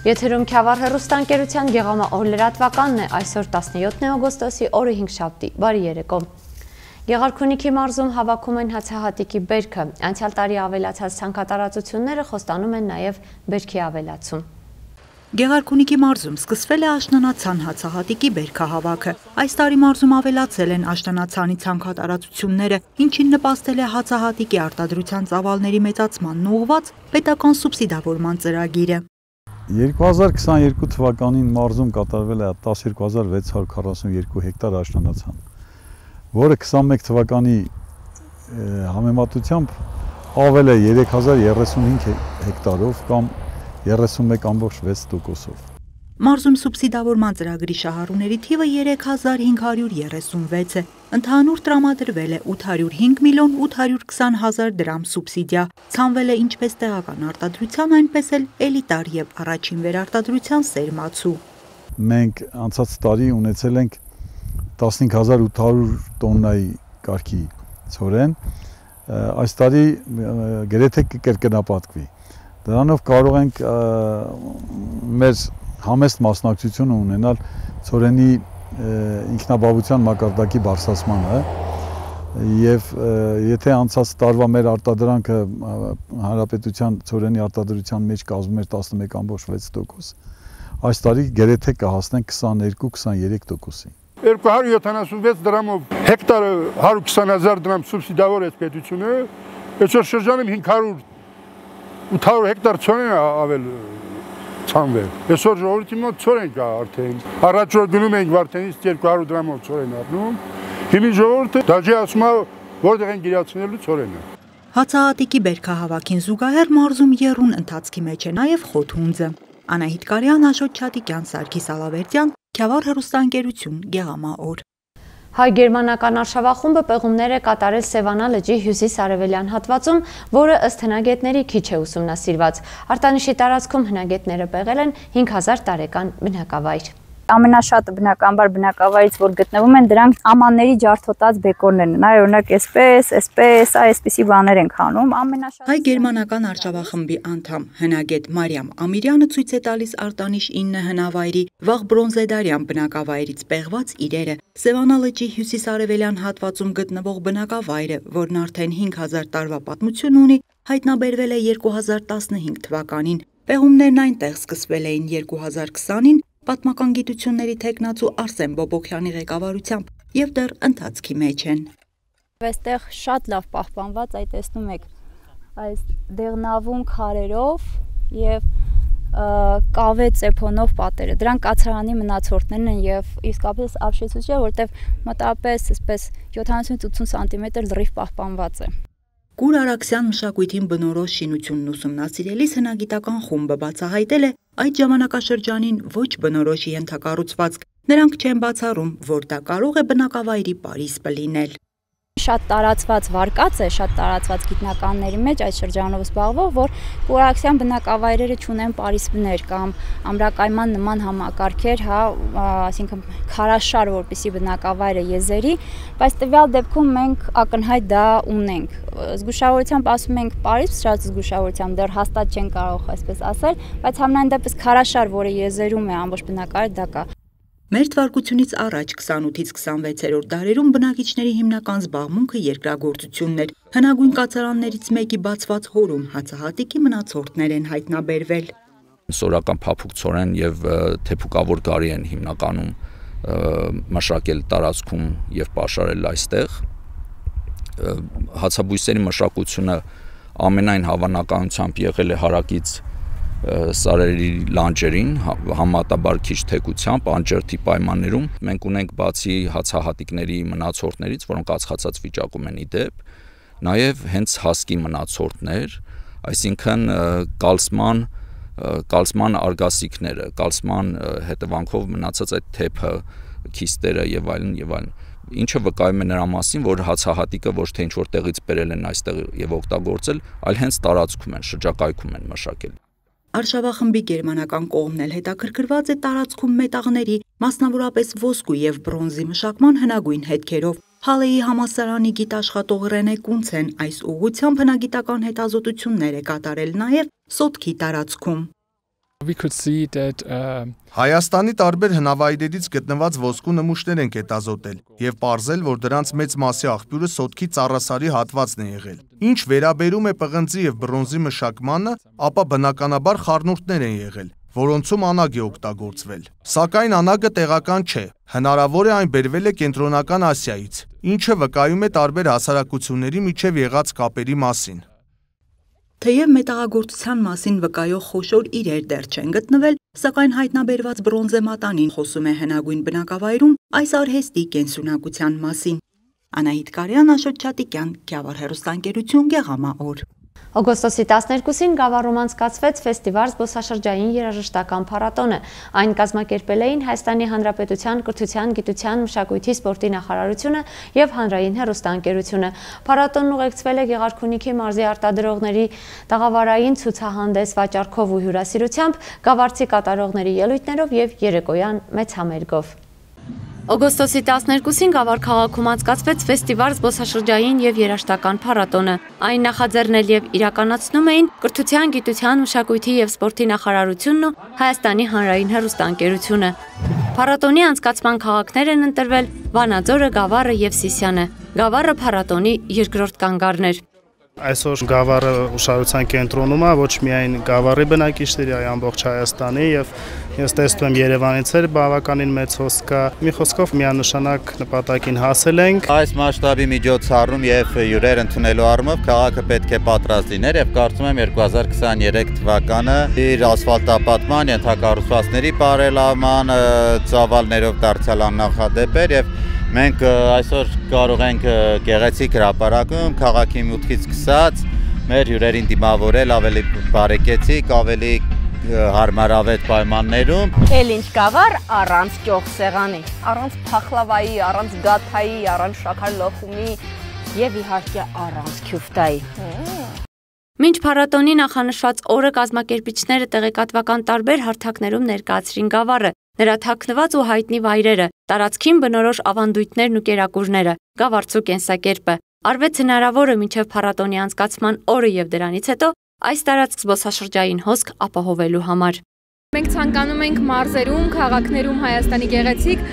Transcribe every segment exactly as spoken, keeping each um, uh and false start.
Եթերում Քյավառ հեռուստաընկերության Գեղամա օր լրատվականն է, այսօր տասնյոթ օգոստոսի օրը հինգշաբթի, բարի երեկո։ Գեղարքունիքի մարզում հավաքում են հացահատիկի բերքը, անցյալ տարի ավելացած ցանքատարածությունները խոստանում են նաև բերքի ավելացում։ Գեղարքունիքի մարզում սկսվել է աշնանացան հացահատիկի բերքահավաքը։ Այս տարի մարզում ավելացել են աշնանացանի ցանքատարածությունները, ինչին նպաստել է հացահատիկի արտադրության ծավալների մեծացմանն ուղղված պետական սուբսիդավորման ծրագիրը։ երկու հազար քսաներկու թվականին մարզում կատարվել է տասնյոթ հազար վեց հարյուր քառասունյոթ հեկտար աշնանացան, որը քսանմեկ թվականի համեմատությամբ ավել է երեք հազար երեսունհինգ հեկտարով կամ երեսունմեկ կόμք վեց տոկոսով։ Մարզում սուբսիդավորման ծրագրի շահառուների թիվը երեք հազար հինգ հարյուր երեսունվեց է։ Ընդհանուր տրամադրվել է ութ հարյուր հինգ միլիոն ութ հարյուր քսան հազար դրամ սուբսիդիա։ Ցանվել է ինչպես տեղական արտադրության, այնպես էլ էլիտար եւ առաջին վերարտադրության սերմացու։ Մենք անցած տարի ունեցել ենք տասնհինգ հազար ութ հարյուր տոննայի կարգի ցորեն, այս տարի գրեթե կկրկնապատկվի։ Դրանով կարող ենք մեր համեստ մասնակցությունը ունենալ ցորենի ինքնաբավության մակարդակի բարձրացմանը եւ եթե անցած տարվա մեր արտադրանքը հանրապետության ցորենի արտադրության մեջ կազմում էր տասնմեկ կόμք վեց տոկոս, այս տարի գրեթե կհասնենք քսաներկու քսաներեք տոկոսի։ երկու հարյուր յոթանասունվեց դրամով հեկտարը հարյուր քսան հազար դրամ սուբսիդավոր է պետությունը, այսօր շրջանում հինգ հարյուր ութ հարյուր հեկտար ցորեն ավել ցանվել։ Այսօր ժողովրդի մոտ ցորեն կա արդեն։ Առաջ որ գնում ենք Վարդենից երկու հարյուր դրամով ցորեն առնում։ Հիմի ժողովուրդը դաժե ասում է որտեղ են գիրացնելու ցորենը։ Հացահատիկի բերքահավաքին զուգահեռ մարզում եռուն ընթացքի մեջ է նաև խոթհունձը։ Անահիտ Կարյան, Աշոտ Չատիկյան, Սարգիս Ալավերդյան, Քյավառ հեռուստաընկերություն, Գեղամա օր։ Հայ-գերմանական արշավախումբը պեղումներ է կատարել Սևանա լճի հյուսիս-արևելյան հատվածում, որը ըստ հնագետների քիչ է ուսումնասիրված։ Արտանիշի տարածքում հնագետները պեղել են հինգ հազար տարեկան բնակավայր։ Ամենաշատը բնականաբար բնակավայրից, որ գտնվում են, դրանք ամանների ջարդոտած բեկորներն են։ Այ օրինակ այսպես, այսպես, այսպիսի բաներ են անում։ Ամենաշատը Հայ-գերմանական արշավախմբի անդամ հնագետ Մարիամ Ամիրյանը ցույց է տալիս արտանիշ ինը հնավայրի վաղ բրոնզեդարյան բնակավայրից պեղված իրերը։ Սևանա լճի հյուսիս-արևելյան հատվածում գտնվող բնակավայրը, որն արդեն հինգ հազար տարվա պատմություն ունի, հայտնաբերվել է երկու հազար տասնհինգ թվականին։ Պեղումներն այնտեղ սկսվել էին երկու հազար քսանին պատմական գիտությունների թեկնածու Արսեն Բոբոքյանի ղեկավարությամբ եւ դեռ ընթացքի մեջ են։ Այստեղ շատ լավ պահպանված, այ տեսնում եք, այս դեղնավուն քարերով եւ կավե ծեփոնով պատերը։ Դրանք կացարանի մնացորդներն են եւ իսկապես ապշեցուցիչ է, որտեվ մոտավորապես այսպես յոթանասունից ութսուն սանտիմետր լրիվ պահպանված է։ Կուր Արաքսյան մշակույթին բնորոշ շինությունն ուսումնասիրելիս հնագիտական խումբը բացահայտել է այդ ժամանակաշրջանին ոչ բնորոշ ենթակառուցվածք։ Նրանք չեն բացառում, որ դա կարող է բնակավայրի պարիսպը լինել։ Շատ տարածված վարկած է, շատ տարածված գիտնականների մեջ այդ շրջանով զբաղվող, որ կուրաքսյան բնակավայրերը չունեն պարիսպներ կամ ամրակայման նման համակարգեր, հա, այսինքն քարաշար, որպեսի բնակավայրը եզերի, բայց տվյալ դեպքում մենք ակնհայտ դա ունենք։ Զգուշավորությամբ ասում ենք պարիսպ, շատ զգուշավորությամբ դեռ հաստատ չեն կարող այսպես ասել, բայց համենայն դեպս քարաշար, որը եզերում է ամբողջ բնակավայրը, դա կա։ Մեր թվարկությունից առաջ քսանութից քսանվեցերորդ դարերում բնակիչների հիմնական զբաղմունքը երկրագործությունն էր։ Հնագույն կացարաններից մեկի բացված հորում հացահատիկի մնացորդներ են հայտնաբերվել։ Սորական փափուկ ցորեն եւ թեփուկավոր գարի են հիմնականում մշակել տարածքում եւ պաշարել այստեղ։ Հացաբույսերի մշակությունը ամենայն հավանականությամբ եղել է հարակից սարերի լանջերին, համատաբար քիչ թեքությամբ, անջրդի պայմաններում։ Մենք ունենք բացի հացահատիկների մնացորդներից, որոնք ածխացած վիճակում են իդեպ, նաև հենց հասկի մնացորդներ, այսինքն կալսման, կալսման արգասիքները, կալսման հետևանքով մնացած այդ թեփը, քիստերը եւ այլն եւ այլն։ Ինչը վկայում է նրա մասին, որ հացահատիկը ոչ թե ինչ-որ տեղից բերել են այստեղ եւ օգտագործել, այլ հենց տարածքում են, շրջակայքում են մշակել։ Արշավախմբի գերմանական կողմն էլ հետաքրքրված է տարածքում մետաղների, մասնավորապես ոսկու եւ բրոնզի մշակման հնագույն հետքերով։ Հալեի համալսարանի գիտաշխատող Ռենե Կունցեն այս ուղղությամբ հնագիտական հետազոտություններ է կատարել նաեւ Սոտքի տարածքում։ We could see that uh, Հայաստանի տարբեր հնավայրերից գտնված ոսկու նմուշներ են հետազոտել եւ պարզել, որ դրանց մեծ մասի աղբյուրը սոտքի ծառասարի հատվածն է եղել։ Ինչ վերաբերում է պղնձի եւ բրոնզի մշակմանը, ապա բնականաբար խառնուրդներ են եղել, որոնցում անագ է օգտագործվել։ Սակայն անագը տեղական չէ, հնարավոր է այն բերվել է Կենտրոնական Ասիայից, ինչը վկայում է տարբեր հասարակությունների միջև եղած կապերի մասին։ Թեև մետաղագործության մասին վկայող խոշոր իրեր դեռ չեն գտնվել, սակայն հայտնաբերված բրոնզե մատանին խոսում է հնագույն բնակավայրում այս արհեստի կենսունակության մասին։ Անահիտ Կարյան, Աշոտ Չատիկյան, Գավառ հեռուստաընկերություն, Գեղամաօր։ Օգոստոսի տասներկուսին Գավառում անցկացվեց ֆեստիվալ զբոսաշրջային երաժշտական փառատոնը։ Այն կազմակերպել էին Հայաստանի Հանրապետության կրթության, գիտության, մշակույթի, սպորտի նախարարությունը եւ Հանրային հեռուստաընկերությունը։ Փառատոնն ուղեկցվել է Գեղարքունիքի մարզի արտադրողների տաղավարային ցուցահանդես վաճառքով ու հյուրասիրությամբ, գավառցի կատարողների ելույթներով եւ երեկոյան մեծ համերգով։ Օգոստոսի տասներկուսին Գավառ քաղաքում անցկացվեց ֆեստիվալ զբոսաշրջային եւ երաժշտական փառատոնը։ Այն նախաձեռնել եւ իրականացնում էին Կրթության, գիտության, մշակույթի եւ սպորտի նախարարությունն ու Հայաստանի Հանրային հեռուստաընկերությունը։ Փառատոնի անցկացման քաղաքներ են ընտրվել Վանաձորը, Գավառը եւ Սիսիանը։ Գավառը փառատոնի երկրորդ կանգառն էր։ Այսօր Գավառը ուշադրության կենտրոնում է ոչ միայն Գավառի բնակիչների, այլ ամբողջ Հայաստանի եւ ես տեսնում եմ Երևանից էր բավականին մեծ հոսք կա։ Մի խոսքով միանշանակ նպատակին հասել ենք։ Այս մասշտաբի միջոցառում եւ հյուրեր ընդունելու առումով քաղաքը պետք է պատրաստ լիներ եւ կարծում եմ երկու հազար քսաներեք թվականը իր ասֆալտապատման, ենթակառուցվածքների բարելավման, ծավալներով դարձյալ աննախադեպ էր եւ մենք այսօր կարող ենք գեղեցիկ հրապարակում քաղաքի մուտքից սկսած մեր հյուրերին դիմավորել ավելի բարեկեցիկ, ավելի հարմարավետ պայմաններում։ Էլ ինչ Գավառ առանց ճոխ սեղանի, առանց փախլավայի, առանց գաթայի, առանց շաքար լոխումի եւ իհարկե առանց քյուֆտայի։ Մինչ փառատոնի նախանշված օրը կազմակերպիչները տեղեկատվական տարբեր հարթակներում ներկայացրին Գավառը, նրա թաքնված ու հայտնի վայրերը, տարածքին բնորոշ ավանդույթներն ու կերակուրները, Գավառցու կենսակերպը։ Արվեց հնարավորը մինչև փառատոնի անցկացման օրը եւ դրանից հետո այս տարածք զբոսաշրջային հոսք ապահովելու համար։ Մենք ցանկանում ենք մարզերում, քաղաքներում Հայաստանի գեղեցիկ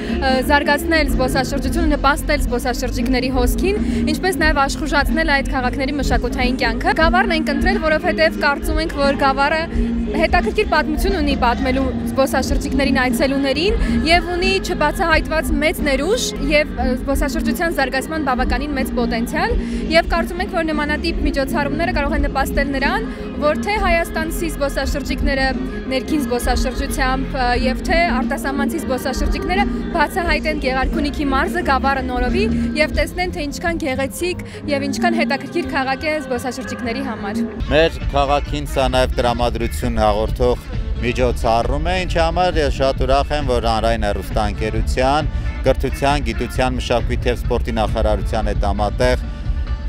զարգացնել զբոսաշրջությունը, նպաստել զբոսաշրջիկների հոսքին, ինչպես նաև աշխուժացնել այդ քաղաքների մշակութային կյանքը։ Գավառն ենք ընտրել, որովհետև կարծում ենք, որ Գավառը հետաքրքիր պատմություն ունի պատմելու զբոսաշրջիկներին, այցելուներին եւ ունի չբացահայտված մեծ ներուժ եւ զբոսաշրջության զարգացման բավականին մեծ պոտենցիալ եւ կարծում ենք, որ նմանատիպ միջոցառումները կարող են նպաստել նրան, որ թե հայաստանցի զբոսաշրջիկները ներքին զբոսաշրջությամբ եւ թե արտասահմանցի զբոսաշրջիկները բացահայտեն Գեղարքունիքի մարզը, Գավառը նորովի եւ տեսնեն, թե ինչքան գեղեցիկ եւ ինչքան հետաքրքիր քաղաք է զբոսաշրջիկների համար։ Մեր քաղաքին սա նաեւ տրամադրություն հաղորդող միջոցառում է, ինչի համար ես շատ ուրախ եմ, որ Հանրային հեռուստաընկերության, Կրթության, Գիտության, Մշակույթի եւ Սպորտի նախարարության հետ համատեղ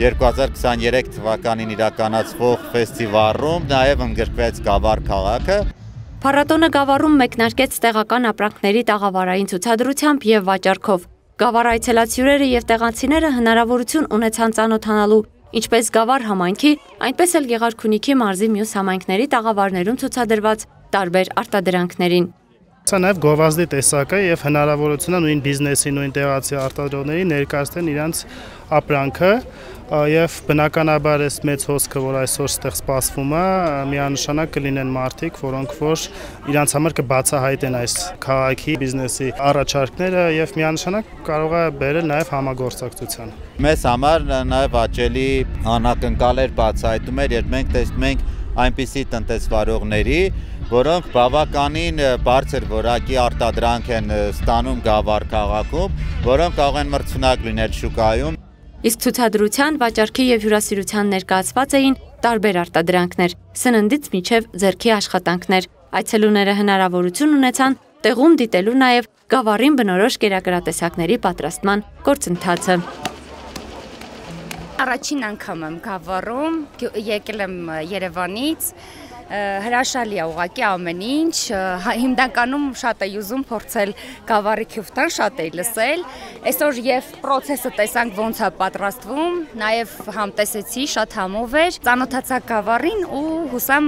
երկու հազար քսաներեք թվականին իրականացվող ֆեստիվալում նաև ընդգրկվեց Գավառ քաղաքը։ Փառատոնը Գավառում մեկնարկեց տեղական ապրանքների տաղավարային ցուցադրությամբ եւ վաճառքով։ Գավառ այցելացյուրերը եւ տեղացիները հնարավորություն ունեցան ծանոթանալու ինչպես Գավառ համայնքի, այնպես էլ Գեղարքունիքի մարզի մյուս համայնքների տաղավարներում ցուցադրված տարբեր արտադրանքներին։ Սա նաև գովազդի տեսակ է եւ հնարավորություն է նույն բիզնեսի, նույն տեղացի արտադրողների ներկայացնել իրենց ապրանքը եւ բնականաբար այս մեծ հոսքը, որ այսօր ստեղ սպասվում է, միանշանակ կլինեն մարդիկ, որոնք որ իրենց համար կբացահայտեն այս քաղաքի բիզնեսի առաջարկները եւ միանշանակ կարող է բերել նաեւ համագործակցության։ Մեզ համար նաեւ աճելի անակնկալ էր բացահայտում էր, երբ մենք տեսնում ենք այնպիսի տնտեսվարողների, որոնք բավականին բարձր որակի արտադրանք են ստանում Գավառ քաղաքում, որոնք կարող են մրցունակ լինել շուկայում։ Իսկ ցուցադրության, վաճառքի եւ հյուրասիրության ներկայացված էին տարբեր արտադրանքներ, սննդից մինչև ձեռքի աշխատանքներ։ Այցելուները հնարավորություն ունեցան տեղում դիտելու նաեւ Գավառին բնորոշ կերակրատեսակների պատրաստման գործընթացը։ Առաջին անգամ եմ Գավառում, եկել եմ Երևանից, Հրաշալի է ուղղակի ամեն ինչ, հիմնականում շատ էի ուզում փորձել գավառի քյուֆտան, շատ էի լսել, այսօր եւ process-ը տեսանք ոնց է պատրաստվում, նաեւ համտեսեցի, շատ համով էր, ծանոթացա գավառին ու հուսամ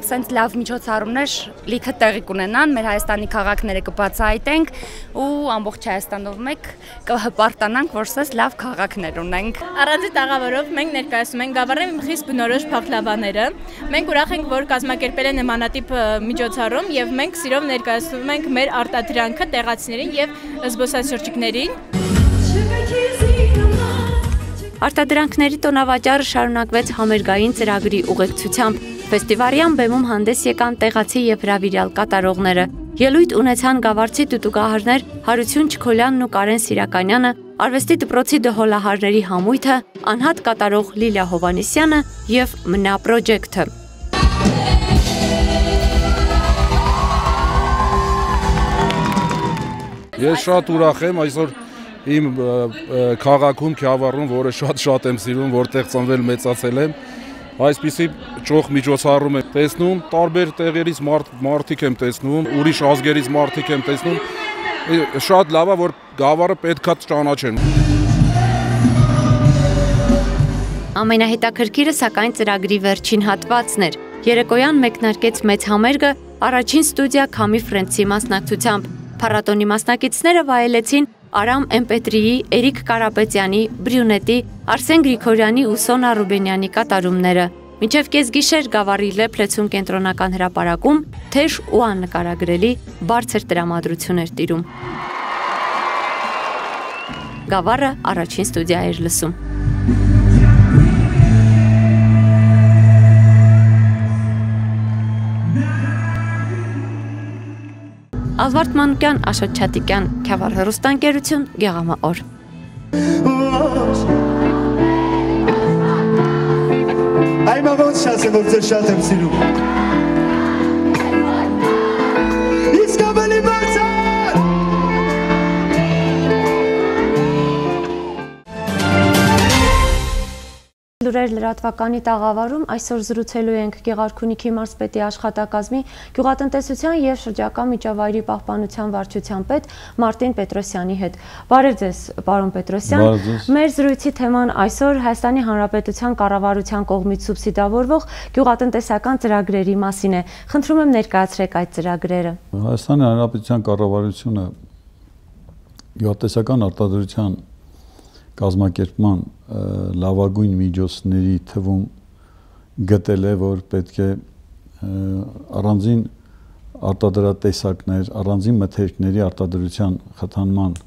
սենց լավ միջոցառումներ լիքը տեղի կունենան, մեր Հայաստանի քաղաքները կբացահայտենք ու ամբողջ Հայաստանով մեկ կհպարտանանք, որ սենց լավ քաղաքներ ունենք։ Առանձին տաղավարով մենք ներկայացնում ենք գավառի խիստ բնորոշ փախլավաները։ Մենք ուրախ ենք, որ կազմակերպել են նմանատիպ միջոցառում եւ մենք սիրով ներկայացնում ենք մեր արտադրանքը տեղացիներին եւ զբոսաշրջիկներին։ Արտադրանքների տոնավաճառը շարունակվեց համերգային ծրագրի ուղեկցությամբ։ Ֆեստիվալյան բեմում հանդես եկան տեղացի եւ հրավիրյալ կատարողները։ Ելույթ ունեցան գավառցի տուտուկահարներ Հարություն Չքոլյանն ու Կարեն Սիրականյանը, արվեստի դպրոցի դհոլահարների համույթը, անհատ կատարող Լիլիա Հովանեսյանը եւ Մնա Պրոջեկտը։ Ես շատ ուրախ եմ այսօր իմ քաղաքում Քյավառում, որը շատ-շատ եմ սիրում, որտեղ ծնվել մեծացել եմ, այսպիսի ճոխ միջոցառում եմ տեսնում, տարբեր տեղերից մարդիկ եմ տեսնում, ուրիշ ազգերից մարդիկ եմ տեսնում, շատ լավ է, որ գավառը պետքա ճանաչեն։ Ամենահետաքրքիրը սակայն ծրագրի վերջին հատվածն էր։ Երեկոյան մեկնարկեց մեծ համերգը առաջին ստուդիա Քամի Ֆրենցի մասնակցությամբ։ Փառատոնի մասնակիցները վայելեցին Արամ Էմպետրիի, Էրիկ Կարապետյանի, Բրյունետի, Արսեն Գրիգորյանի ու Սոնա Ռուբենյանի կատարումները։ Մինչև կեսգիշեր Գավառի Լեփլեցուն կենտրոնական հրապարակում թեժ ու աննկարագրելի բարձր տրամադրություն էր տիրում։ Գավառը առաջին ստուդիա էր լսում։ Ազվարդ Մանուկյան, Աշոտ Չատիկյան, Քյավառ հեռուստաընկերություն, Գեղամաօր։ Այմա ոնց շասեմ, որ ձեր շատ եմ սիրում։ Իսկ ավելի բարձր։ Լուրեր լրատվականի տաղավարում այսօր զրուցելու ենք Գեղարքունիքի մարզպետի աշխատակազմի գյուղատնտեսության եւ շրջակա միջավայրի պահպանության վարչության պետ Մարտին Պետրոսյանի հետ։ Բարև ձեզ, պարոն Պետրոսյան։ Մեր զրույցի թեման այսօր Հայաստանի Հանրապետության կառավարության կողմից սուբսիդավորվող գյուղատնտեսական ծրագրերի մասին է։ Խնդրում եմ ներկայացրեք այդ ծրագրերը։ Հայաստանի Հանրապետության կառավարությունը գյուղատնտեսական արտադրության կազմակերպման լավագույն միջոցների թվում գտել է, որ պետք է առանձին արտադրատեսակներ, առանձին մթերքների արտադրության խթանման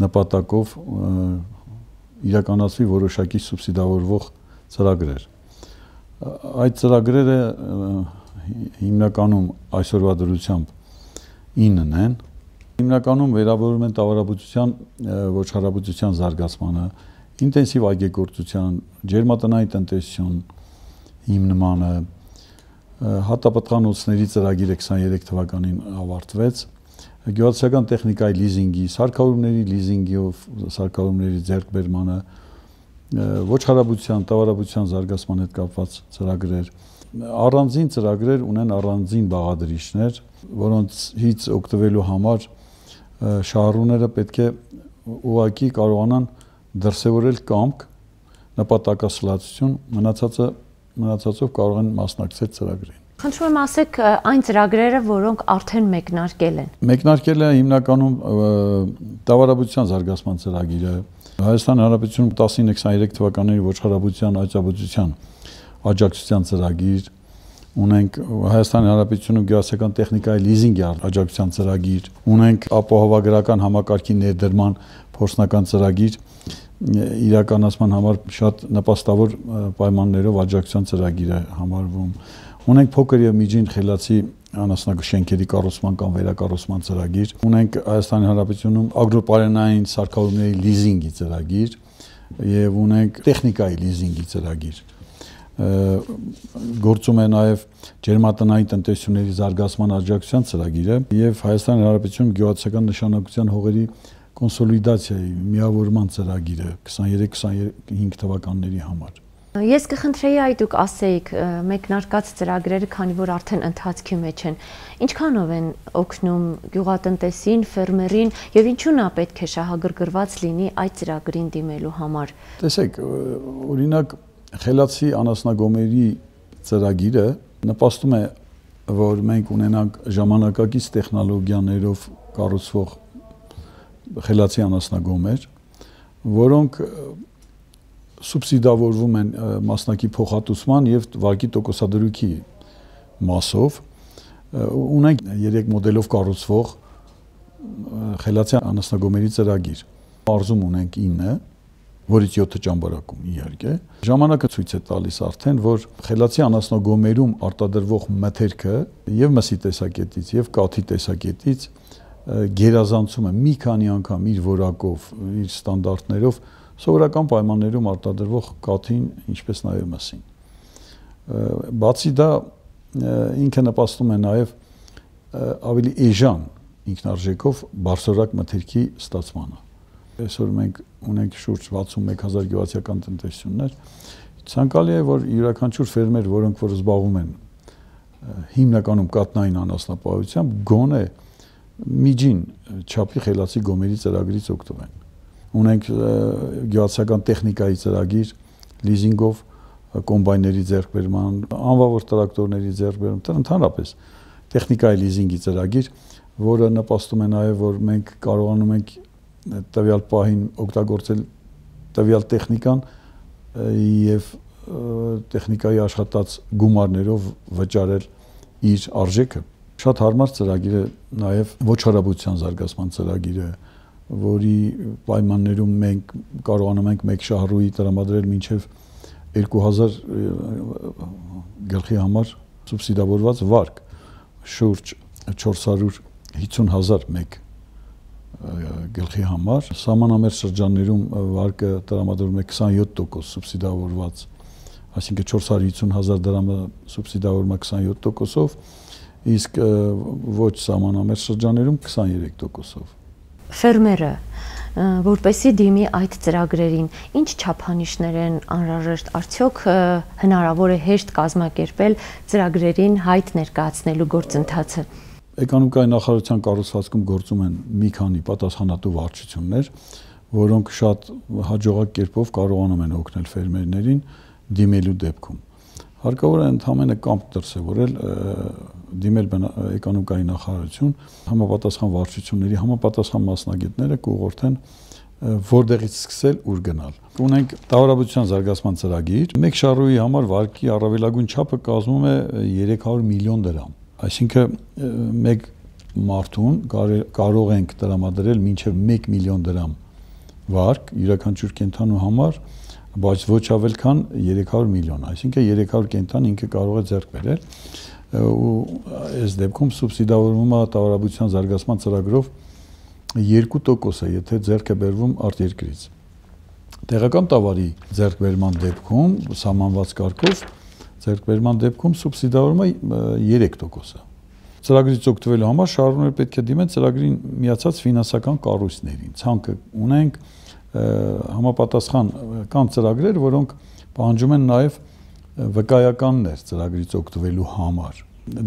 նպատակով իրականացվի որոշակի սուբսիդավորվող ծրագրեր։ Այդ ծրագրերը հիմնականում այսօրվա դրությամբ ինն են, հիմնականում վերաբերում են տավարաբուծության, ոչխարաբուծության զարգացմանը, ինտենսիվ այգեգործության, ջերմատնային տնտեսություն հիմնմանը, հատապտղանոցների ծրագիրը քսաներեք թվականին ավարտվեց, գյուղատնտեսական տեխնիկայի լիզինգի, սարքավորումների լիզինգիով սարքավորումների ձեռքբերմանը, ոչխարաբուծության, տավարաբուծության զարգացման հետ կապված ծրագրեր, առանձին ծրագրեր ունեն առանձին բաղադրիչներ, որոնցից օգտվելու համար շահառուները պետք է ուղղակի կարողանան դրսևորել կամք, նպատակասլացություն, մնացածը մնացածով կարող են մասնակցել ծրագրին։ Խնդրում եմ ասեք այն ծրագրերը, որոնք արդեն մեկնարկել են։ Մեկնարկել է հիմնականում տավարաբուծության զարգացման ծրագիրը, Հայաստանի Հանրապետությունում տասնինը քսաներեք թվականների ոչխարաբուծության աջակցության աջակցության ծրագիր, ունենք Հայաստանի Հանրապետությունում գյուղատնտեսական տեխնիկայի լիզինգի աջակցության ծրագիր, ունենք ապահովագրական համակարգի ներդրման փորձնական ծրագիր, իրականացման համար շատ նպաստավոր պայմաններով աջակցության ծրագիր է համարվում։ Ունենք փոքր եւ միջին խելացի անասնաշենքերի կառուցման կամ վերակառուցման ծրագիր, ունենք Հայաստանի Հանրապետությունում ագրոպարենային սարքավորումների լիզինգի ծրագիր եւ ունենք տեխնիկայի լիզինգի ծրագիր։ Գործում է նաև ջերմատնային տնտեսությունների զարգացման աջակցության ծրագիրը եւ Հայաստանի Հանրապետությունում գյուղատնտեսական նշանակության հողերի կոնսոլիդացիայի միավորման ծրագիրը քսաներեք քսանհինգ թվականների համար։ Ես կխնդրեի այ դուք ասեիք մեկնարկած ծրագրերը, քանի որ արդեն ընթացքի մեջ են, ինչքանով են օգնում գյուղատնտեսին, ֆերմերին եւ ինչու նա պետք է շահագրգռված լինի այդ ծրագրին դիմելու համար։ Տեսեք, օրինակ խելացի անասնագոմերի ծրագիրը նպաստում է, որ մենք ունենանք ժամանակակից տեխնոլոգիաներով կառուցվող խելացի անասնագոմեր, որոնք սուբսիդավորվում են մասնակի փոխհատուցման եւ վարկի տոկոսադրույքի մասով, ունենք երեք մոդելով կառուցվող խելացի անասնագոմերի ծրագիր։ Մարզում ունենք ինը, որից յոթը ճամբարակում իհարկե։ Ժամանակը ցույց է տալիս արդեն, որ խելացի անասնագոմերում արտադրվող մթերքը եւ մսի տեսակետից եւ կաթի տեսակետից գերազանցում է մի քանի անգամ իր որակով, իր ստանդարտներով սովորական պայմաններում արտադրվող կաթին, ինչպես նաև մսին։ Բացի դա ինքը նպաստում է նաև ավելի էժան ինքնարժեքով բարձրորակ մթերքի ստացմանը։ Այսօր մենք ունենք շուրջ վաթսունմեկ հազար գյուղացիական տնտեսություններ։ Ցանկալի է, որ յուրաքանչյուր ֆերմեր, որոնք որ զբաղվում են հիմնականում կատնային անասնապահությամբ, գոնե միջին չափի խելացի գոմերի ծրագրից օգտվեն։ Ունենք գյուղացիական տեխնիկայի ծրագիր, լիզինգով կոմբայների ձեռքբերման, անվավոր տրակտորների ձեռքբերման, ընդհանրապես տեխնիկայի լիզինգի ծրագիր, որը նպաստում է նաև, որ մենք կարողանում ենք տվյալ պահին օգտագործել տվյալ տեխնիկան եւ տեխնիկայի աշխատած գումարներով վճարել իր արժեքը։ Շատ հարմար ծրագիր է նաև ոչխարաբուծության զարգացման ծրագիրը, որի պայմաններում մենք կարողանում ենք մեկ շահառուի տրամադրել մինչև երկու հազար գլխի համար սուբսիդավորված վարկ, շուրջ չորս հարյուր հիսուն հազար մեկ գլխի համար, սահմանամերձ շրջաններում վարկը տրամադրվում է քսանյոթ տոկոս սուբսիդավորված, այսինքն չորս հարյուր հիսուն հազար դրամը սուբսիդավորվում է քսանյոթ տոկոսով, իսկ ոչ սահմանամերձ շրջաններում քսաներեք տոկոսով։ Ֆերմերը, որպեսզի դիմի այդ ծրագրերին, ինչ չափանիշներ են անհրաժեշտ, արդյոք հնարավոր է հեշտ կազմակերպել ծրագրերին հայտ ներկայացնելու գործընթացը։ Էկոնոմիկայի նախարարության կառուցվածքում գործում են մի քանի պատասխանատու վարչություններ, որոնք շատ հաջողակ կերպով կարողանում են օգնել ֆերմերներին դիմելու դեպքում։ Հարկավոր է ընդհանրապես կամք դրսևորել դիմել էկոնոմիկայի նախարարություն, համապատասխան վարչությունների, համապատասխան մասնագետները կուղղորդեն որտեղից սկսել, ուր գնալ։ Ունենք տաղավարաբուծության զարգացման ծրագիր, մեկ շահառուի համար վարկի առավելագույն չափը կազմում է երեք հարյուր միլիոն դրամ։ Այսինքն մեկ մարդուն կարող ենք տրամադրել մինչև մեկ միլիոն դրամ վարկ յուրաքանչյուր կենդանու համար, բայց ոչ ավել քան երեք հարյուր միլիոն, այսինքն երեք հարյուր կենդան ինքը կարող է ձեռք բերել ու այս դեպքում սուբսիդավորվում է տաղավարաբուծության զարգացման ծրագրով երկու տոկոս է, եթե ձեռք է բերվում արտերկրից։ Տեղական տավարի ձեռքբերման դեպքում սահմանված կարգով ձեռքբերման դեպքում սուբսիդավորվում է երեք տոկոս է։ Ծրագրից օգտվելու համար շահառուները պետք է դիմեն ծրագրին միացած ֆինանսական կառույցներին։ Ցանկը ունենք համապատասխան կան ծրագրեր, որոնք պահանջում են նաև վկայականներ ծրագրից օգտվելու համար։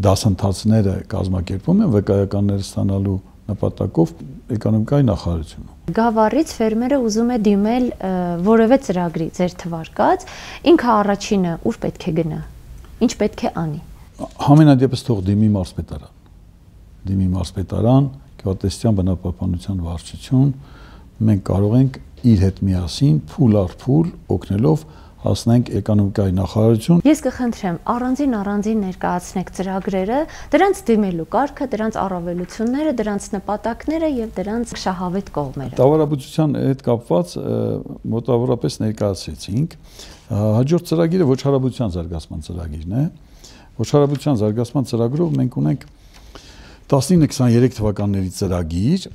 Դասընթացները կազմակերպում են վկայականներ ստանալու նպատակով էկոնոմիկայի նախարարությունը։ Գավառից ֆերմերը ուզում է դիմել որևէ ծրագրի ձեր թվարկած, ինքը առաջինը ուր պետք է գնա, ինչ պետք է անի։ Համենայնդեպս թող դիմի մարզպետարան։ Դիմի մարզպետարան, գյուղատնտեսության բնապահպանության վարչություն, մենք կարող ենք իր հետ միասին փուլ առ փուլ օգնելով հասնենք էկոնոմիկայի նախարարություն։ Ես կխնդրեմ առանձին առանձին ներկայացնեք ծրագրերը, դրանց դիմելու կարգը, դրանց առավելությունները, դրանց նպատակները եւ դրանց շահավետ կողմերը։ Տաղավարաբուծության հետ կապված մոտավորապես ներկայացրեցինք։ Հաջորդ ծրագիրը ոչխարաբուծության զարգացման ծրագիրն է։ Ոչխարաբուծության զարգացման ծրագրով մենք ունենք տասնինը քսաներեք թվականների ծրագիր,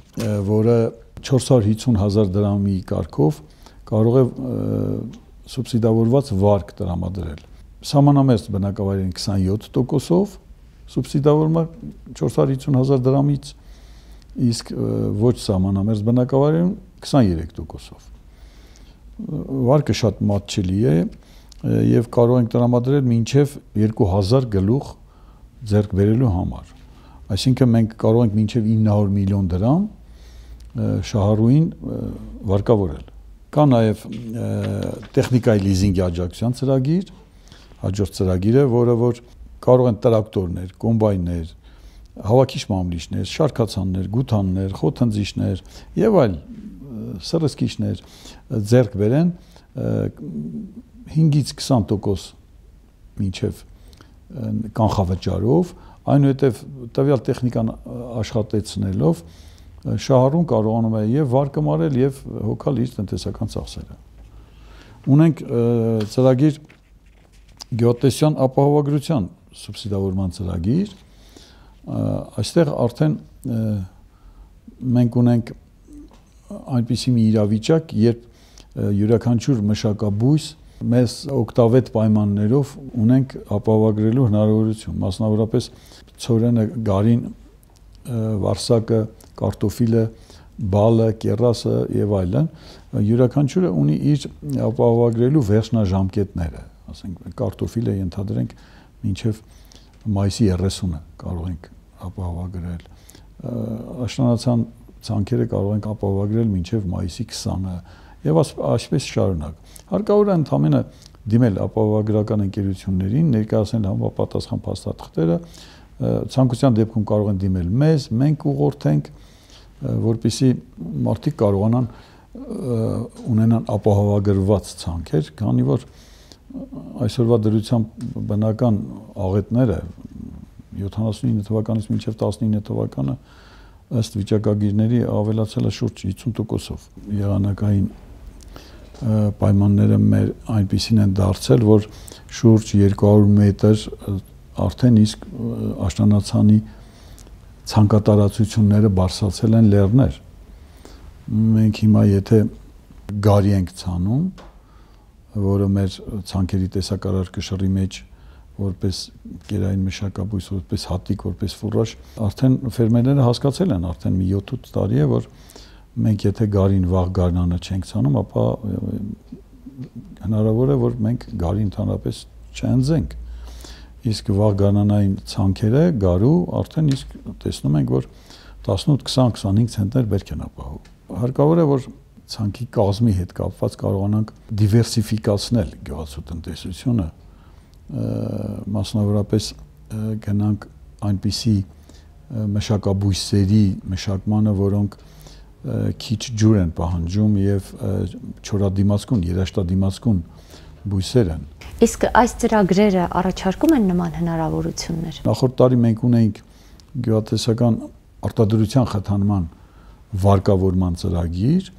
որը չորս հարյուր հիսուն հազար դրամի կարգով կարող է սուբսիդավորված վարկ տրամադրել։ Սահմանամերձ բնակավայրերին քսանյոթ տոկոսով սուբսիդավորումը չորս հարյուր հիսուն հազար դրամից, իսկ ոչ սահմանամերձ բնակավայրերին քսաներեք տոկոսով։ Վարկը շատ մատչելի է, եւ կարող ենք տրամադրել մինչեւ երկու հազար գլուխ ձեռք բերելու համար։ Այսինքն մենք կարող ենք մինչեւ ինը հարյուր միլիոն դրամ շահառուին վարկավորել։ Կա նաեւ տեխնիկայի լիզինգի աջակցության ծրագիր, հաջորդ ծրագիրը, որը որ կարող են տրակտորներ, կոմբայններ, հավաքիչ մամլիչներ, շարքացաններ, գութաններ, խոթընձիչներ եւ այլ սրսկիչներ ձեռք բերեն հինգից քսան տոկոս մինչև կանխավճարով, այնուհետև տվյալ տեխնիկան աշխատեցնելով շահառուն կարողանում է եւ վարկը մարել եւ հոգալ իր տնտեսական ծախսերը։ Ունենք ծրագիր գյուղատնտեսության ապահովագրության սուբսիդավորման ծրագիր, այստեղ արդեն մենք ունենք այնպիսի մի իրավիճակ, երբ յուրաքանչյուր մշակաբույս մեզ օգտավետ պայմաններով ունենք ապահովագրելու հնարավորություն, մասնավորապես ցորենը, գարին, վարսակը, կարտոֆիլը, բալը, կեռասը եւ այլն, յուրաքանչյուրը ունի իր ապահովագրելու վերջնաժամկետները, ասենք կարտոֆիլը ենթադրենք մինչեւ մայիսի երեսունը կարող ենք ապահովագրել, աշնանացան ցանքերը կարող ենք ապահովագրել մինչեւ մայիսի քսանը եւ այսպես շարունակ։ Հարկավոր է ընդամենը դիմել ապահովագրական ընկերություններին, ներկայացնել համապատասխան փաստաթղթերը, ցանկության դեպքում կարող են դիմել մեզ, մենք ուղղորդենք, որպեսզի մարդիկ կարողանան ունենան ապահովագրված ցանքեր, քանի որ այսօրվա դրությամբ բնական աղետները յոթանասունինը թվականից մինչև տասնինը թվականը ըստ վիճակագիրների ավելացել է շուրջ հիսուն տոկոսով։ Եղանակային պայմանները մեր այնպիսին են դարձել, որ շուրջ երկու հարյուր մետր արդեն իսկ աշնանացանի ցանկատարածությունները բարձրացել են լեռներ։ Մենք հիմա եթե գարի ենք ցանում, որը մեր ցանկերի տեսակարար կշռի մեջ որպես գերային մշակաբույս, որպես հատիկ, որպես ֆուրաժ, արդեն ֆերմերները հասկացել են, արդեն մի յոթ-ութ տարի է, որ մենք եթե գարին վաղ գարնանը չենք ցանում, ապա հնարավոր է, որ մենք գարի ընդհանրապես չընձենք։ Իսկ վաղ գարնանային ցանքերը գարու արդեն իսկ տեսնում ենք, որ տասնութ, քսան, քսանհինգ ցենտներ բերք են ապահովում։ Հարկավոր է, որ ցանքի կազմի հետ կապված կարողանանք դիվերսիֆիկացնել գյուղացու տնտեսությունը, մասնավորապես գնանք այնպիսի մշակաբույսերի մշակմանը, որոնք քիչ ջուր են պահանջում եւ չորադիմացկուն, երաշտադիմացկուն բույսեր են։ Իսկ այս ծրագրերը առաջարկում են նման հնարավորություններ։ Նախորդ տարի մենք ունեինք գյուղատնտեսական արտադրության խթանման վարկավորման ծրագիր,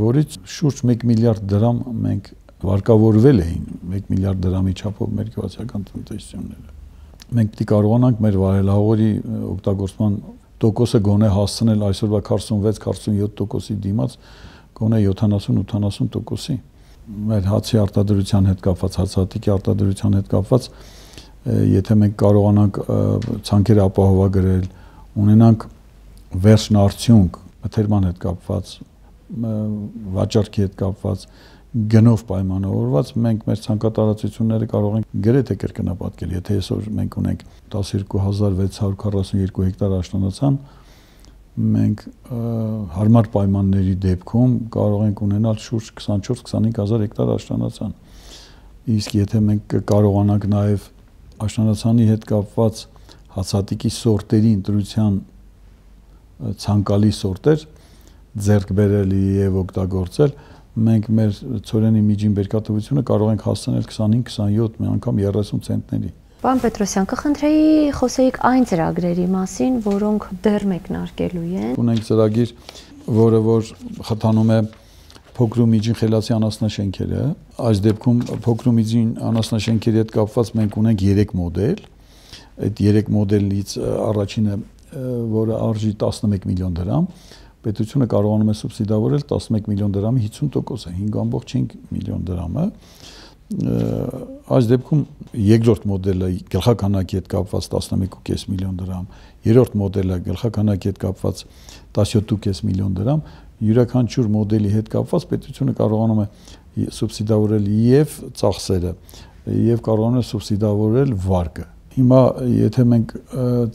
որից շուրջ մեկ միլիարդ դրամ մենք վարկավորվել էին մեկ միլիարդ դրամի չափով մեր գյուղատնտեսական տնտեսությունները։ Մենք պիտի կարողանանք մեր վարելահողերի օգտագործման տոկոսը գոնե հասցնել այսօրվա քառասունվեց քառասունյոթ տոկոսի դիմաց գոնե յոթանասուն-ութանասուն տոկոսի։ Մեր հացի արտադրության հետ կապված, հացահատիկի արտադրության հետ կապված, եթե մենք կարողանանք ցանքերը ապահովագրել, ունենանք վերջնարդյունք մթերման հետ կապված, վաճառքի հետ կապված, գնով պայմանավորված, մենք մեր ցանկատարածությունները կարող ենք գրեթե կրկնապատկել, եթե այսօր մենք ունենք տասնյոթ հազար վեց հարյուր քառասունյոթ հեկտար աշնանացան, մենք հարմար պայմանների դեպքում կարող ենք ունենալ շուրջ քսանչորս քսանհինգ հազար հեկտար աշնանացան։ Իսկ եթե մենք կարողանանք նաև աշնանացանի հետ կապված հացահատիկի սորտերի ընտրության ցանկալի սորտեր ձեռք բերել եւ օգտագործել, մենք մեր ցորենի միջին բերքատվությունը կարող ենք հասցնել քսանհինգ քսանյոթ, մի անգամ երեսուն ցենտների։ Պարոն Պետրոսյան, կխնդրեի խոսեիք այն ծրագրերի մասին, որոնք դեռ մեկնարկելու են։ Ունենք ծրագիր, որը որ խթանում է փոքր ու միջին խելացի անասնաշենքերը։ Այս դեպքում փոքր ու միջին անասնաշենքերի հետ կապված մենք ունենք երեք մոդել։ Այդ երեք մոդելից առաջինը, որը արժի տասնմեկ միլիոն դրամ, պետությունը կարողանում է սուբսիդավորել տասնմեկ միլիոն դրամի հիսուն տոկոսը, հինգ ամբողջ հինգ միլիոն դրամը։ Այս դեպքում երկրորդ մոդելը գլխականակի հետ կապված տասնմեկ ու կես միլիոն դրամ, երրորդ մոդելը գլխականակի հետ կապված տասնյոթ ու կես միլիոն դրամ, յուրաքանչյուր մոդելի հետ կապված պետությունը կարողանում է սուբսիդավորել եւ ծախսերը եւ կարողանում է սուբսիդավորել վարկը։ Հիմա եթե մենք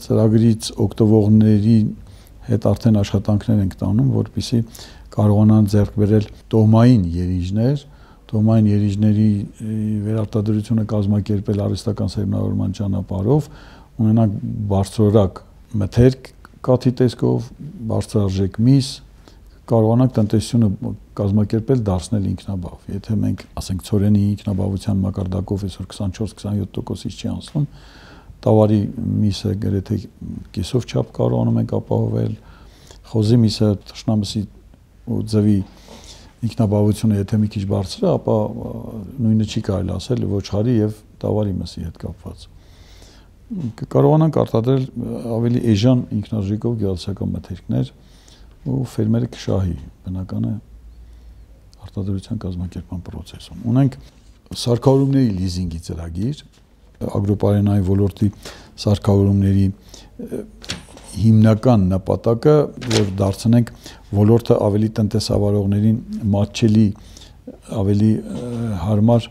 ծրագրից օգտվողների հետ արդեն աշխատանքներ ենք տանում, որպեսզի կարողանան ձեռք բերել տոհմային երիժներ, տոհմային երիժների վերարտադրությունը կազմակերպել արհեստական սերմնավորման ճանապարհով, ունենանք բարձրորակ մթերք կաթի տեսքով, բարձրարժեք միս, կարողանանք տնտեսությունը կազմակերպել դարձնել ինքնաբավ։ Եթե մենք, ասենք, ցորենի ինքնաբավության մակարդակով այսօր քսանչորս քսանյոթ տոկոսից չի անցնում, տավարի միսը գրեթե կեսով չափ կարողանում ենք ապահովել, խոզի միսը թշնամսի ու ձվի ինքնաբավությունը եթե մի քիչ բարձր է, ապա նույնը չի կարելի ասել ոչխարի եւ տավարի մսի հետ կապված։ Կարողանանք արտադրել ավելի էժան ինքնարժեքով գյուղատնտեսական մթերքներ ու ֆերմերը կշահի բնականը արտադրության կազմակերպման process-ում։ Ունենք սարքավորումների լիզինգի ծրագիր, ագրոպարենային ոլորտի սարքավորումների հիմնական նպատակը, որ դարձնենք ոլորտը ավելի տնտեսավարողներին մատչելի, ավելի հարմար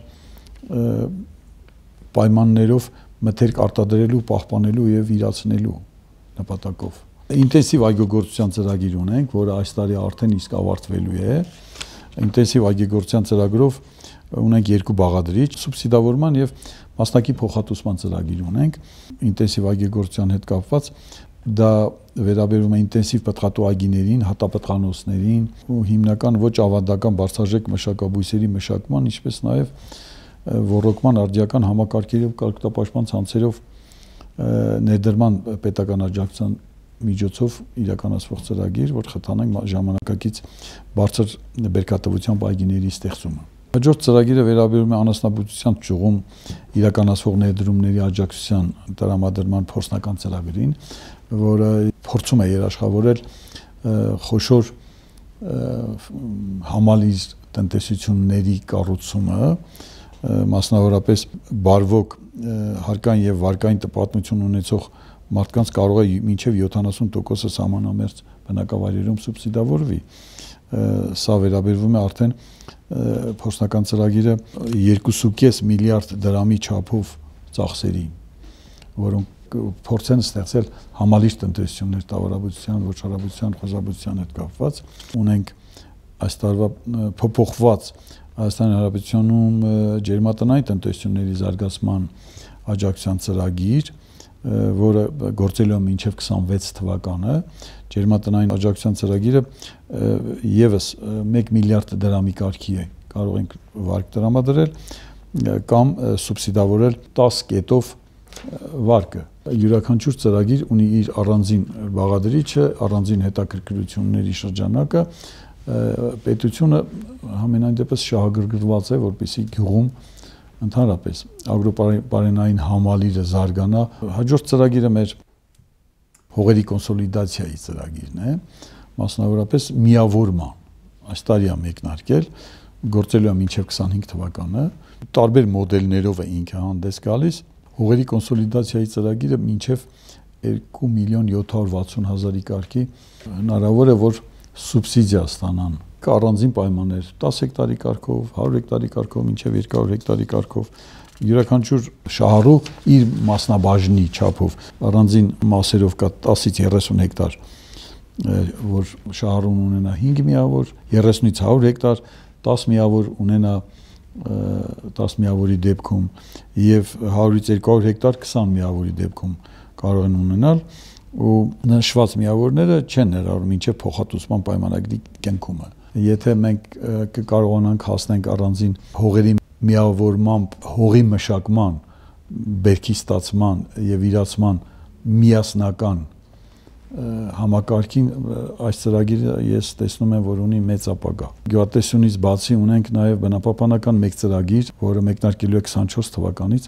պայմաններով մթերք արտադրելու, պահպանելու եւ իրացնելու նպատակով։ Ինտենսիվ այգեգործության ծրագիր ունենք, որը այս տարի արդեն իսկ ավարտվելու է։ Ինտենսիվ այգեգործության ծրագրով ունենք երկու բաղադրիչ, սուբսիդավորման եւ մասնակի փոխհատուցման ծրագիր ունենք։ Ինտենսիվ այգեգործության հետ կապված դա վերաբերում է ինտենսիվ պտղատու այգիներին, հատապտղանոցներին ու հիմնական ոչ ավանդական բարձրաժեք մշակաբույսերի մշակման, ինչպես նաեւ ոռոգման արդիական համակարգերի ու կարգապաշտպան ցանցերով ներդրման պետական աջակցության միջոցով իրականացվող ծրագիր, որ խթանենք ժամանակակից բարձր բերքատվությամբ այգիների ստեղծումը։ Հաջորդ ծրագիրը վերաբերում է անասնաբուծության ճյուղում իրականացվող ներդրումների աջակցության տրամադրման փորձնական ծրագրին, որը փորձում է երաշխավորել խոշոր համալիր տնտեսությունների կառուցումը, մասնավորապես բարվոք հարկային եւ վարկային տպատմություն ունեցող մարդկանց կարող է մինչև յոթանասուն տոկոսը սահմանամերձ բնակավայրերում սուբսիդավորվի։ Սա վերաբերվում է արդեն փորձնական ծրագիրը երկու կόμμα պենս միլիարդ դրամի չափով ծախսերի, որոնք փորձեն ստեղծել համալիր տնտեսություններ տավարաբուծության, ոչխարաբուծության, խոզաբուծության հետ կապված։ Ունենք այս տարվա փոփոխված Հայաստանի Հանրապետությունում ջերմատնային տնտեսությունների զարգացման աջակցության ծրագիր, որը գործելու է մինչև քսանվեց թվականը, ջերմատնային աջակցության ծրագիրը եւս մեկ միլիարդ դրամի կարգի է, կարող ենք վարկ տրամադրել կամ սուբսիդավորել տասը կետով վարկը։ Յուրաքանչյուր ծրագիր ունի իր առանձին բաղադրիչը, առանձին հետաքրքրությունների շրջանակը, պետությունը համենայն դեպս շահագրգռված է, որպեսզի գյուղում ընդհանրապես ագրոպարենային համալիրը զարգանա։ Հաջորդ ծրագիրը մեր հողերի կոնսոլիդացիայի ծրագիրն է, մասնավորապես միավորման։ Այս տարի է մեկնարկել, գործելու է մինչև քսանհինգ թվականը, տարբեր մոդելներով է ինքը հանդես գալիս։ Հողերի կոնսոլիդացիայի ծրագիրը մինչև երկու միլիոն յոթ հարյուր վաթսուն հազարի կարգի հնարավոր է, որ սուբսիդիա ստանան առանձին պայմաններ տասը հեկտարի կարգով, հարյուր հեկտարի կարգով, մինչև երկու հարյուր հեկտարի կարգով, յուրաքանչյուր շահառու իր մասնաբաժնի չափով առանձին մասերով կա տասից երեսուն հեկտար, որ շահառուն ունենա հինգ միավոր, երեսունից հարյուր հեկտար, տասը միավոր ունենա տասը միավորի դեպքում եւ հարյուրից երկու հարյուր հեկտար քսան միավորի դեպքում կարող են ունենալ ու նշված միավորները չեն ներառում մինչև փոխհատուցման պայմանագրի կենքումը։ Եթե մենք կկարողանանք հասնենք առանձին հողերի միավորմամբ հողի մշակման, բերքի ստացման եւ իրացման միասնական համակարգին, այս ծրագիրը ես տեսնում եմ, որ ունի մեծ ապագա։ Գյուղատնտեսությունից բացի ունենք նաեւ բնապահպանական մեկ ծրագիր, որը մեկնարկելու է քսանչորս թվականից,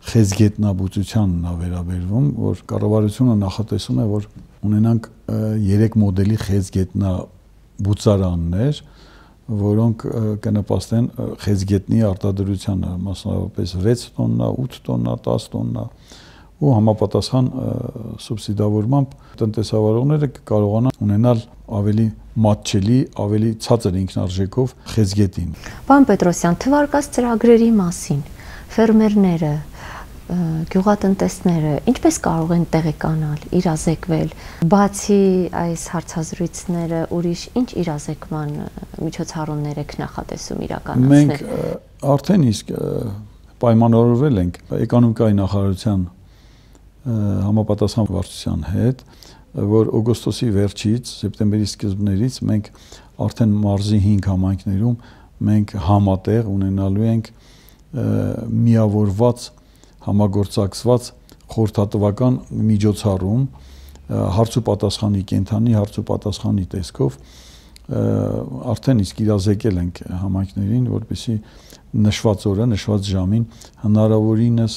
խեցգետնաբուծությանն է վերաբերվում, որ կառավարությունը նախատեսում է, որ ունենանք երեք մոդելի խեցգետնաբուծարաններ, որոնք կնպաստեն խեցգետնի արտադրությանը, մասնավորապես վեց տոննա, ութ տոննա, տասը տոննա ու համապատասխան սուբսիդավորմամբ տնտեսավարողները կարողանան ունենալ ավելի մատչելի, ավելի ցածր ինքնարժեքով խեցգետին։ Պարոն Պետրոսյան, թվարկած ծրագրերի մասին ֆերմերները, գյուղատնտեսները ինչպես կարող են տեղեկանալ, իրազեկվել, բացի այս հարցազրույցները, ուրիշ ինչ իրազեկման միջոցառումներ եք նախատեսում իրականացնել։ Մենք արդեն իսկ պայմանավորվել ենք էկոնոմիկայի նախարարության համապատասխան վարչության հետ, որ օգոստոսի վերջից, սեպտեմբերի սկզբներից մենք արդեն մարզի հինգ համայնքներում մենք համատեղ ունենալու ենք միավորված համագործակցված խորհրդատվական միջոցառում հարց ու պատասխանի կենթանի հարց ու պատասխանի տեսքով արդեն իսկ իրազեկել ենք համայնքներին, որպեսզի նշված օրը, նշված ժամին հնարավորինս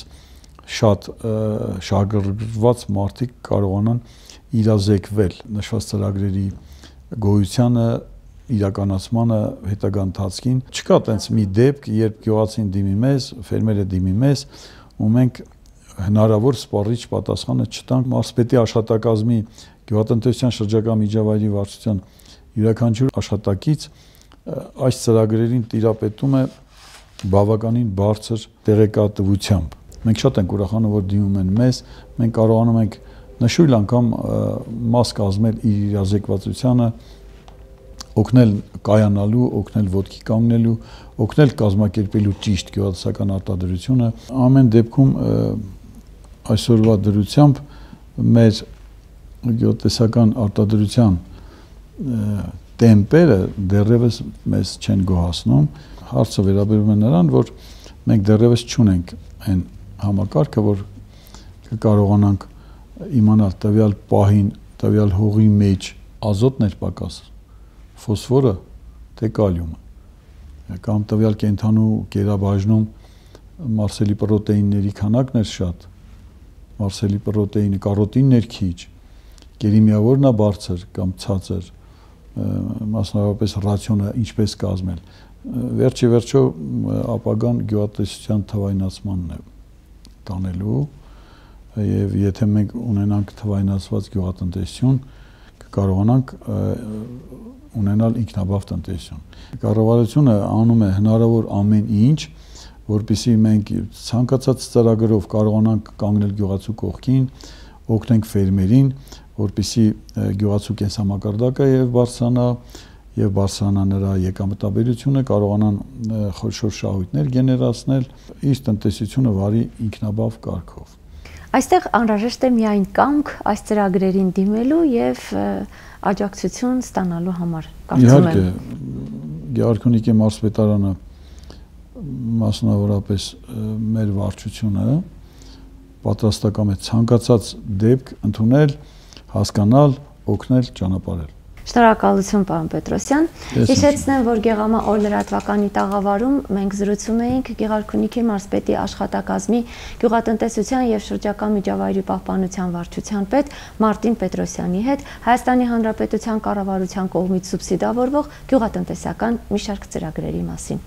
շատ շահագրգռված մարդիկ կարողանան իրազեկվել նշված ծրագրերի գոյությանը, իրականացմանը հետագա ընթացքին։ Չկա տենց մի դեպք, երբ գյուղացին դիմի մեզ, ֆերմերը դիմի մեզ, ու մենք հնարավոր սպառիչ պատասխանը չտանք մարզպետի աշխատակազմի գյուղատնտեսության շրջակա միջավայրի վարչության յուրաքանչյուր աշխատակից այս ծրագրերին տիրապետում է բավականին բարձր տեղեկատվությամբ։ Մենք շատ ենք ուրախանում, որ դիմում են մեզ, մենք կարողանում ենք նշույլ անգամ մաս կազմել իր իրազեկվածությանը, օգնել կայանալու, օգնել ոտքի կանգնելու, օգնել կազմակերպելու ճիշտ գյուղատնտեսական արտադրությունը։ Ամեն դեպքում այսօրվա դրությամբ մեր գյուղատնտեսական արտադրության տեմպերը դեռևս մեզ չեն գոհացնում։ Հարցը վերաբերում է նրան, որ մենք դեռևս չունենք այն համակարգը, որ կարողանանք իմանալ տվյալ պահին, տվյալ հողի մեջ ազոտն էր պակաս, ֆոսֆորը, թե կալիումը, կամ տվյալ կենդանու կերաբաժնում մարսելի պրոտեինների քանակն էր շատ, մարսելի պրոտեինը, կարոտինն էր քիչ, կերիմիավորն է բարձր կամ ցածր, մասնավորապես ռացիոնը ինչպես կազմել։ Վերջի վերջո ապագան գյուղատնտեսության թվայնացմանն է տանելու, եւ եթե մենք ունենանք թվայնացված գյուղատնտեսություն, կկարողանանք ունենալ ինքնաբավ տնտեսություն։ Կառավարությունը անում է հնարավոր ամեն ինչ, որպեսզի մենք ցանկացած ծրագրով կարողանանք կանգնել գյուղացու կողքին, օգնենք ֆերմերին, որպեսզի գյուղացու կենսամակարդակը եւ բարձրանա եւ բարձրանա նրա եկամտաբերությունը, կարողանան խոշոր շահույթներ գեներացնել, իր տնտեսությունը վարի ինքնաբավ կարգով։ Այստեղ անհրաժեշտ է միայն կամք այս ծրագրերին դիմելու եւ աջակցություն ստանալու համար, կարծում եմ։ Իհարկե, Գեղարքունիքի մարզպետարանը, մասնավորապես մեր վարչությունը պատրաստական է ցանկացած դեպք ընդունել, հասկանալ, օգնել, ճանապարհել։ Շնորհակալություն, պարոն Պետրոսյան։ Հիշեցնեմ, որ Գեղամա օր լրատվականի տաղավարում մենք զրուցում էինք Գեղարքունիքի մարզպետի աշխատակազմի գյուղատնտեսության եւ շրջակա միջավայրի պահպանության վարչության պետ Մարտին Պետրոսյանի հետ Հայաստանի Հանրապետության կառավարության կողմից սուբսիդավորվող գյուղատնտեսական մի շարք ծրագրերի մասին։